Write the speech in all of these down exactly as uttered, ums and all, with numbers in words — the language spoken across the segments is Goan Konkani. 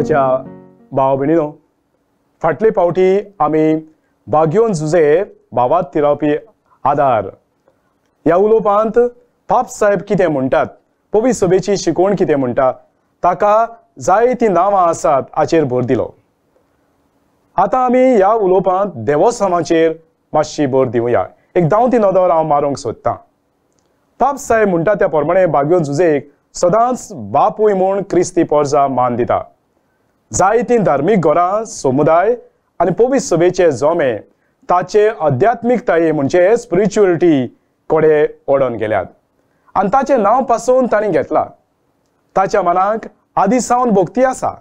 मोगाच्या भाव भयणीनो, फाटले फावटी आमी बाग्योन जुजे भावात थिरावपी आदार ह्या उलोवपांत पाप साहेब कितें म्हणटात, पवी सभेची शिकवण कितें म्हणटा, ताका जायतीं नांवां आसात हाचेर भर दिलो. आतां आमी ह्या उलोवपांत देवोसांवाचेर मातशी भर दिवया. एक धांवती नदर हांव मारूंक सोदतां. पाप साहेब म्हणटा त्या प्रमाणे बाग्योन जुजेक सदांच बापूय म्हूण क्रिस्ती पोरजा मान दिता. जायतीं धार्मीक घरां, समुदाय आनी पवित्र सभेचे जोमे ताचे अध्यात्मिकताये म्हणजे स्पिरिच्युअलिटी कडेन ओडून गेल्यात आनी ताचें नांव पासून तांणी घेतलां. ताच्या मनाक आदी सावन भक्ती आसा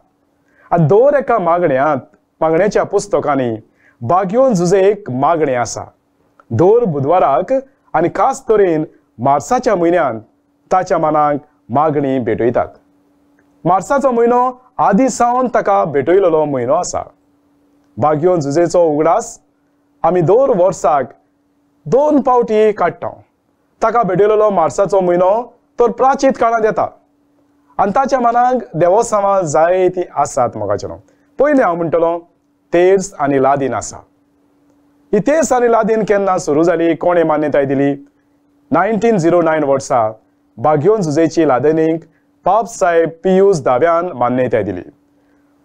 आनी दर एका मागण्यांत मागण्याच्या पुस्तकांनी बाग्योन जुजेक मागणें आसा. दर बुधवाराक आनी खास तरेन मार्साच्या म्हयन्यांत ताच्या मनाक मागणी भेटयतात. मार्साचो म्हयनो आदी सावन ताका भेटयलेलो म्हयनो आसा. बाग्योन जुजेचो उगडास आमी दर वर्साक दोन पावटी काडटा. ताका भेटयलेलो मार्साचो म्हयनो तर प्राचीत काळांत येता आनी ताच्या मनाक देवोसांवां जायतीं आसात. मोगाचें पयलें हांव म्हणटलो तेर्स आनी लादीन आसा. ही तेर्स आनी लादीन केन्ना सुरू जाली, कोणें मान्यताय दिली? नायन्टीन झिरो नायन वर्सा बाग्योन जुजेची लादनीक पाप साहेब पियूस दाव्यान मान्यताय दिली.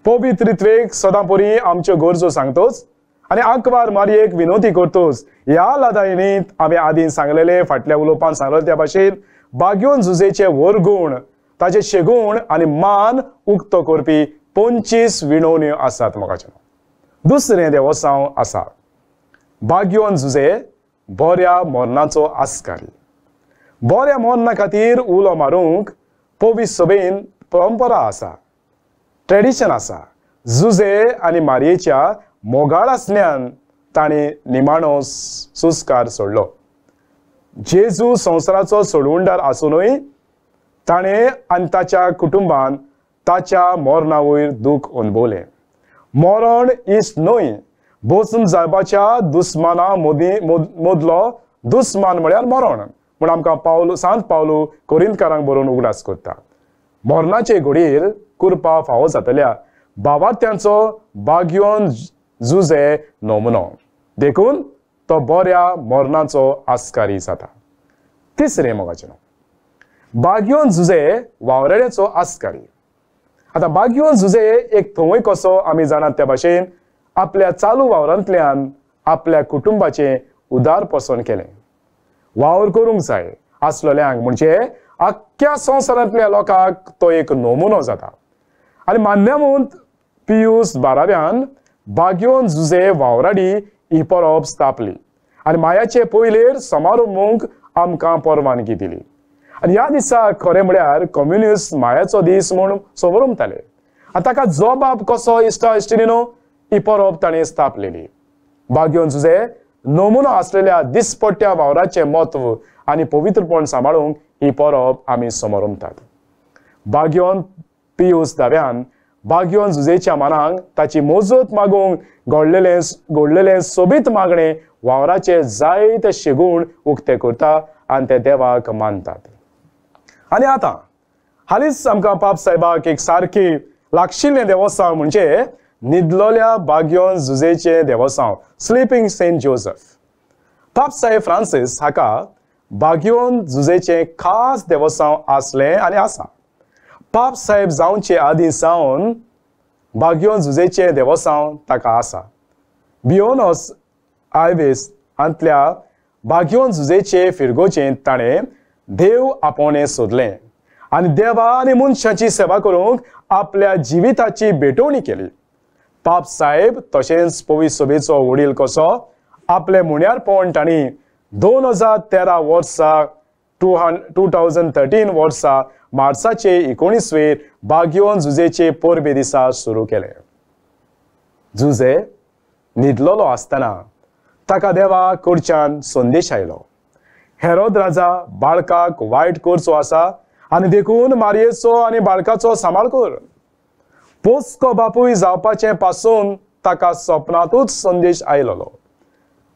पवित्रित्वेक सदां परी आमच्यो गरजो सांगतोच आनी आंकवार मारयेक विनोती करतोच ह्या लादायनीत आमी आदीं सांगलेले, फाटल्या उलोवपान सांगलेले त्या भाशेन बाग्योन जुजेचे वरगूण, ताचे शेगूण आनी मान उक्तो करपी पंचवीस विणवण्यो आसात. मोगाचें दुसरें देवोसांव आसा बाग्योन जुजे बऱ्या मरणाचो आस्कारी. बऱ्या मरणा खातीर उलो मारूंक पवित्र सभेन परंपरा आसा, ट्रेडिशन आसा. जुजे आनी मारयेच्या मोगाळ आसल्यान ताणें निमाणो सुस्कार सोडलो. जेजू संवसाराचो सोडवणदार आसुनूय ताणें आनी ताच्या कुटुंबान ताच्या मरणा वयर दूख अणभवलें. मरण इश्ट न्हय, बसून जावपाच्या दुस्माना मदीं मदलो दुस्मान म्हळ्यार मरण म्हूण आमकां पावलू, सांत पावलू कोरिंतकारांक बरोवन उगडास करता. मरणाचे घडयेर कुरपा फावो जातल्या बाबात्यांचो बाग्योन जुजे नमुनो, देखून तो बऱ्या मरणाचो आस्कारी जाता. तिसरें मोगाचें बाग्योन जुजे वावराड्याचो आस्कारी. आतां बाग्योन जुजे एक थंय कसो आमी जाणात त्या भाशेन आपल्या चालू वावरांतल्यान आपल्या कुटुंबाचें उदारपसन केलें. वावर करूंक जाय आसलेल्यांक म्हणजे आख्ख्या संवसारांतल्या लोकांक तो एक नमुनो जाता. आनी मान्यमूंत पियूस बाराव्यान बाग्योन जुजे वावराडी ही परब स्थापली आनी मायाचे पयलेर समारंभूंक आमकां परवानगी दिली. आनी ह्या दिसा खरें म्हळ्यार कम्युनिस्ट मायाचो दीस म्हूण समरमताले आनी ताका जबाब कसो इश्टा इश्टिणीनो ही परब ताणें स्थापलेली. बाग्योन जुजे नमुनो आसलेल्या दिसपट्ट्या वावराचें म्हत्व आनी पवित्रपण सांबाळूंक ही परब आमी समरमतात. बाग्योन पियूस दाव्यान बाग्योन जुजेच्या मनाक ताची मोजत मागूंक घडलेलें घडलेलें सोबीत मागणें वावराचे जायते शेगूण उक्ते करता आनी ते देवाक मानतात. आनी आतां हालींच आमकां पाप साहेबाक एक सारकी लागशिल्लें देवोसांव म्हणजे न्हिदलोल्या बाग्योन जुजेचें देवोसांव, स्लिपींग सेंट जोजफ. पाप साहेब फ्रांसीस हाका बाग्योन जुजेचें खास देवोसांव आसलें आनी आसा. पाप साहेब जावचे आदीं सावन बाग्योन जुजेचें देवोसांव ताका आसा. बियोनोस आयवेस हांतल्या बाग्योन जुजेचे फिरगोचें ताणें देव आपोवणें सोदलें आनी देवा आनी मनशाची सेवा करूंक आपल्या जिविताची भेटवणी केली. पाप साहेब तशेंच पवित्र सभेचो वडील कसो आपले मुण्यारपण तांणी दोन हजार तेरा वर्सा टू हंड टू थावजंड थर्टीन वर्सा मार्साचे एकोणिसवेर बाग्योन जुजेचे परबे दिसा सुरू केले. जुजे न्हिदलोलो आसतना ताका देवा कडच्यान संदेश आयलो, हेरोद राजा बाळकाक वायट करचो आसा आनी देखून मारयेचो आनी बाळकाचो सांबाळ कर. पोसको बापूय जावपाचें पासून ताका सपनांतूच संदेश आयलोलो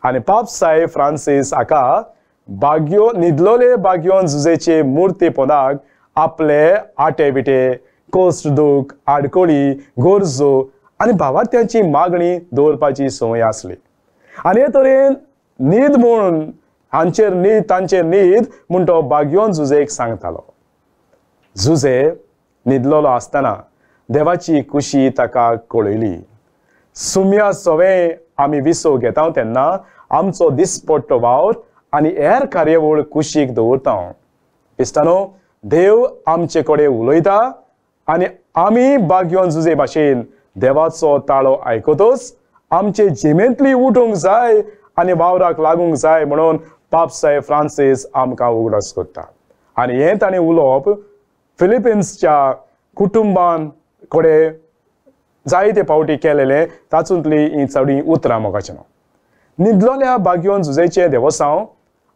आनी पाप साहेब फ्रांसीस हाका बाग्यो न्हिदलोले बाग्योन जुजेचे मुर्ती पोदाक आपले आटे बिटे कश्ट दूख आडकोळी गरजो आनी भावार्थ्यांची मागणी दवरपाची संवय आसली. आनी हे तरेन न्हीद म्हूण हांचेर न्हीद तांचेर न्हीद म्हूण तो बाग्योन जुजेक सांगतालो. जुजे न्हिदलेलो आसतना देवाची कुशी ताका कळयली. सुम्या सवे आमी विसव घेता तेन्ना आमचो दिसपट्टो वावर आनी हेर कार्यावळ कुशीक दवरता. इश्टानो, देव आमचे कडेन उलयता आनी आमी बाग्योन जुजे भाशेन देवाचो ताळो आयकतच आमचे जिमेंतली उठूंक जाय आनी वावराक लागूंक जाय म्हणून पाप साहेब फ्रांसीस आमकां उगडास करता. आनी हें ताणें उलोवप फिलिपिन्सच्या कुटुंबान कडेन जायते फावटी केलेलें तातूंतली ही चडीं उतरां मोगाचें. न्हिदलोल्या बाग्योन जुजेचें देवसांव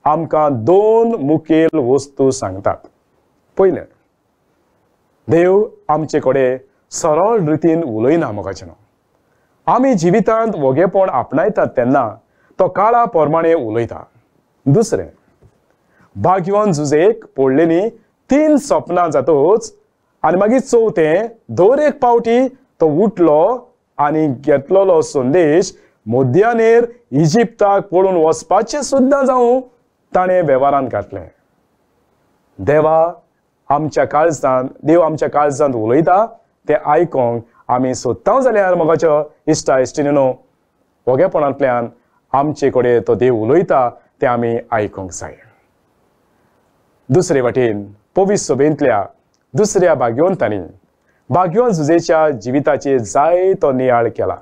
आमकां दोन मुखेल वस्तू सांगतात. पयलें, देव आमचे कडेन सरळ रितीन उलयना मोगाचें. आमी जिवितांत वोगेपण आपणायतात तेन्ना तो काळा प्रमाणे उलयता. दुसरें, बाग्योन जुजेक पडलेली तीन सपनां जातच आनी मागीर चवथें, दर एक पावटी तो उठलो आनी घेतलेलो संदेश मध्यानेर इजिप्ताक पळून वचपाचें सुद्दां जावं ताणें वेव्हारांत घातलें. देवा आमच्या काळजांत देव आमच्या काळजांत उलयता तें आयकोंक आमी सोदता जाल्यार मोगाच्या इश्टा इश्टिणीनो वोगेपणांतल्यान आमचे कडेन तो देव उलयता तें आमी आयकोंक जाय. दुसरे वाटेन पवित्र सभेंतल्या दुसऱ्या भाग्यवंतांनी बाग्योन जुजेच्या जिविताचेर जायतो नियाळ केला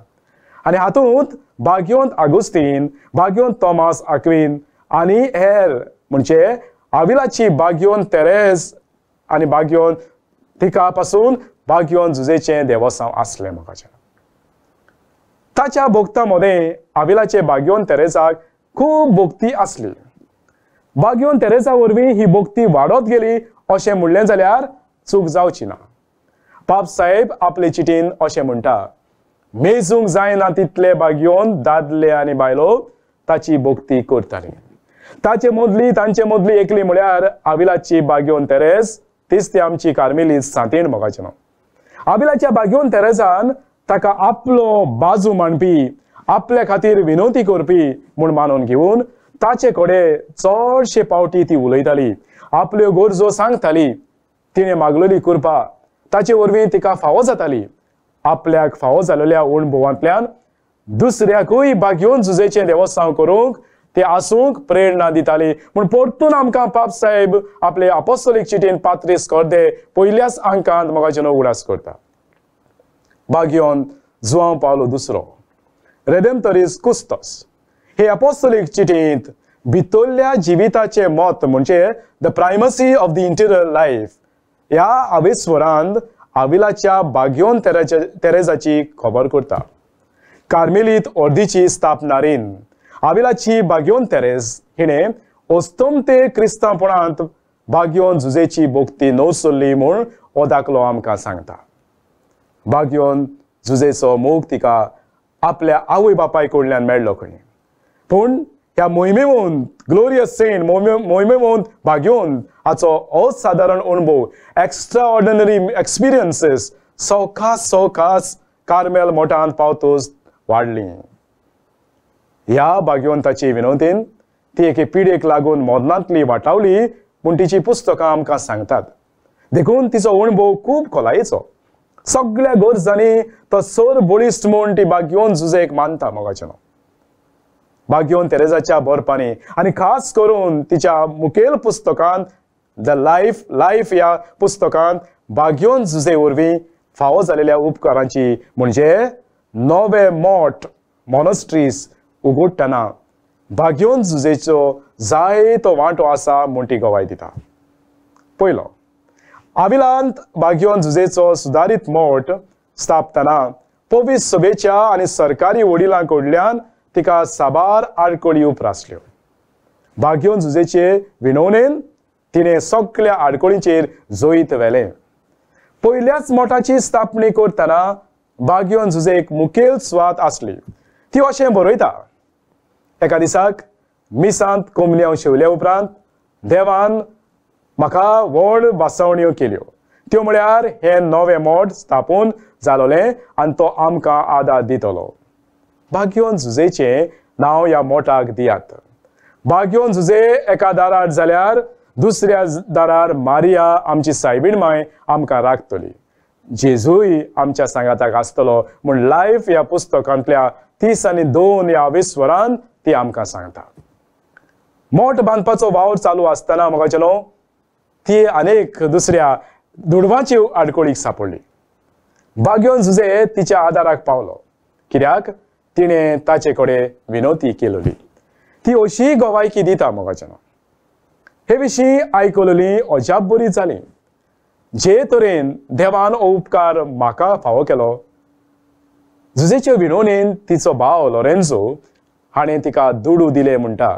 आनी हातूंत भाग्यवंत आगुस्तीन, भाग्यवंत तॉमास आक्वीन आनी हेर म्हणजे आविलाची बाग्योन तेरेज आनी बाग्योन तिका पासून बाग्योन जुजेचें देवसांव आसलें मोगाचें. ताच्या भक्तां मदें आविलाचे बाग्योन तेरेजाक खूब भक्ती आसली. बाग्योन तेरेजा वरवीं ही भक्ती वाडत गेली अशें म्हणलें जाल्यार चूक जावची ना. पाप साहेब आपले चिटीन अशें म्हणटा, मेजूंक जायना तितले बाग्योन दादले आनी बायलो ताची भक्ती करताली. ताचे मदली तांचे मदली एकली म्हळ्यार आविलाची बाग्योन तेरेज, तीच ती आमची कार्मेली सांतीण मोगाचें नांव. आविलाच्या बाग्योन तेरेजान ताका आपलो बाजू मांडपी, आपल्या खातीर विनवती करपी म्हूण मानून घेवन ताचे कडेन चडशे पावटी ती उलयताली, आपल्यो गरजो सांगताली. तिणें मागलेली कृपा ताचे वरवीं तिका फावो जाताली. आपल्याक फावो जालेल्या अणभवांतल्यान दुसऱ्याकूय बाग्योन जुजेचें देवसांव करूंक ते आसूंक प्रेरणा दिताली. म्हूण परतून आमकां पाप साहेब आपले अपोस्तोलीक चिटीन पात्रीस कोर्दे पयल्याच आंकांत मोगाचें उगडास करता. बाग्योन जुआंव पावलो दुसरो रेडेम्पटरीस कुस्तोस हे अपोस्तोलीक चिटींत भितरल्या जिविताचें मत म्हणजे the primacy of the interior life ह्या आवेस्वरांत आविलाच्या बाग्योन तेरेजा तेरेजाची खबर करता. कार्मेलीत अर्दीची स्थापनारीन आविलाची बाग्योन तेरेज हिणें अस्तमते क्रिस्तांवपणांत बाग्योन जुजेची भक्ती नवसरली म्हूण हो दाखलो आमकां सांगता. बाग्योन जुजेचो मोग तिका आपल्या आवय बापाय कडल्यान मेळ्ळो खंय, पूण ह्या मोहिमेवंत ग्लोरियस सेंट मोहिमेवंत बाग्योन हाचो असादारण अणभव, एक्स्ट्रा ऑर्डिनरी एक्सपिरियन्सीस सवकास सवकास कार्मेल मोठांत पावतच वाडली. ह्या भाग्यवंताची विनवतीन ती एके पिढयेक लागून मरणांतली वाटावली म्हूण तिची पुस्तकां आमकां सांगतात. देखून तिचो अणभव खूब खोलायेचो. सगळ्या गरजांनी तो सर बळिश्ट म्हूण ती बाग्योन जुजेक मानता मोगाचें नांव. बाग्योन तेरेजाच्या बरपांनी आनी खास करून तिच्या मुखेल पुस्तकांत the life life ह्या पुस्तकांत बाग्योन जुजे वरवीं फावो जालेल्या उपकारांची म्हणजे नवे मठ मोनस्ट्रीज उगडटना बाग्योन जुजेचो जायतो वांटो आसा म्हूण ती गवाय दिता. पयलो, आविलांत बाग्योन जुजेचो सुदारीत मठ स्थापतना पवित्र सभेच्या आनी सरकारी वडिलां कडल्यान तिका साबार आडखळी उप्रासल्यो. बाग्योन जुजेचे विनवणेन तिणें सगळ्या आडखळींचेर जैत व्हेलें. पयल्याच मठाची स्थापणी करतना बाग्योन जुजेक मुखेल सुवात आसली. ती अशें बरयता, एका दिसाक मिसांत कोमन्यांव शेवल्या उपरांत देवान म्हाका व्हड भासावण्यो केल्यो. त्यो म्हळ्यार हे नवें मठ स्थापून जालोलें आनी तो आमकां आदार दितलो. बाग्योन जुजेचें नांव ह्या मोठाक दियात. बाग्योन जुजे एका दारार जाल्यार दुसऱ्या दारार मारिया आमची सायबीण माय आमकां राखतली. जेजूय आमच्या सांगाताक आसतलो म्हूण लायफ ह्या पुस्तकांतल्या तीस आनी दोन ह्या विस्वरान ती आमकां सांगता. मोठ बांदपाचो वावर चालू आसतना म्हाका न्हू ती अनेक दुसऱ्या दुडवाची आडकोळीक सापडली. बाग्योन जुजे तिच्या आदाराक पावलो, कित्याक तिणें ताचे कडेन विनवती केलोली. ती अशी गवायकी दिता मोगाच्या. हे विशीं आयकलोली अजाप बरी जाली. जे तरेन देवान हो उपकार म्हाका फावो केलो. जुजेचे विनवणेन तिचो भाव लोरेन्झो हाणें तिका दुडू दिले म्हणटा.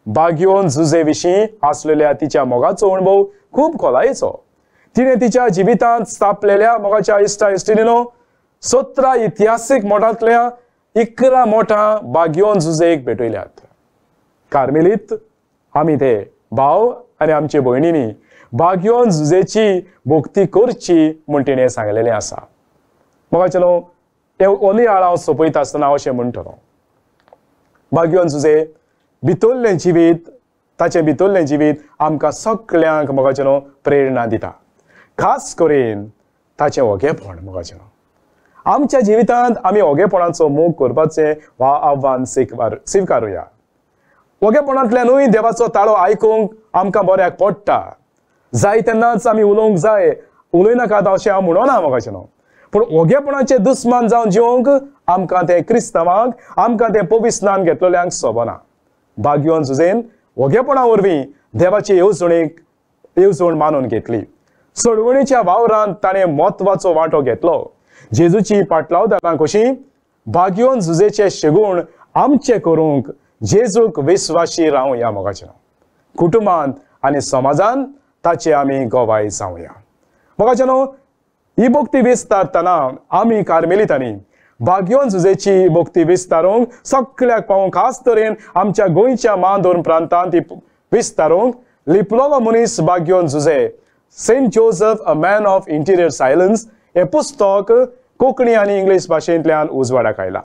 बाग्योन जुजे विशीं आसलेल्या तिच्या मोगाचो अणभव खूब खोलायेचो. तिणें तिच्या जिवितांत स्थापलेल्या मोगाच्या इश्टा इश्टिणीनो सतरा इतिहासीक मोठांतल्या इकरा मोठां बाग्योन जुजेक भेटयल्यात. कार्मेलीत आमी ते भाव आनी आमचे भयणींनी बाग्योन जुजेची भक्ती करची म्हूण तिणें सांगलेलें आसा. मोगाचे न्हू हे ओली आळ हांव सोंपयता आसतना हांव अशें म्हणटलो, बाग्योन जुजे भितरलें जिवीत, ताचें भितरलें जिवीत आमकां सगळ्यांक मोगाचे न्हू प्रेरणा दिता. खास करून ताचें ओगेपण मोगाचें न्हू. आमच्या जिवितांत आमी ओगेपणाचो मोग करपाचें वा आव्हान स्विकार स्विकारुया. ओगेपणांतल्यानूय देवाचो ताळो आयकूंक आमकां बऱ्याक पडटा. जाय तेन्नाच आमी उलोवंक जाय, उलयनाकात अशें हांव म्हणना मोगाचें न्हू, पूण ओगेपणाचे दुस्मान जावन जिवंक आमकां तें क्रिस्तांवांक, आमकां तें पविस्नान घेतलेल्यांक सोबना. बाग्योन जुजेन ओगेपणा वरवीं देवाची येवजणेक येवजण मानून घेतली. सोडवणीच्या वावरांत ताणें म्हत्वाचो वांटो घेतलो. जेजूची पाटलावदारां कशी बाग्योन जुजेचे शेगूण आमचे करूंक जेजूक विस्वाशी रावया मोगाचें. कुटुंबांत आनी समाजान ताचे आमी गवाय जावया. मोगाचें न्हू ही भक्ती विस्तारतना आमी कार्मेलितांनी बाग्योन जुजेची भक्ती विस्तारूंक सगळ्याक पावोवंक, खास तरेन आमच्या गोंयच्या मांदोर प्रांतांत ती विस्तारूंक लिपलोलो मनीस बाग्योन Jose, Saint Joseph a man of interior silence हें पुस्तक कोंकणी आनी इंग्लीश भाशेंतल्यान उजवाडाक आयलां.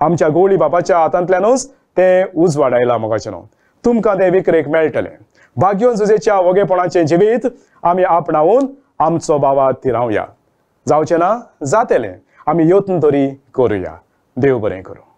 आमच्या गोळी बापाच्या हातांतल्यानूच तें उजवाड आयलां मोगाचें न्हू. तुमकां तें विक्रेक मेळटलें. बाग्योन जुजेच्या ओगेपणाचें जिवीत आमी आपणावन आमचो बाबा थिरावया. जावचें ना जातलें, आमी यत्न तरी करुया. देव बरें करूं.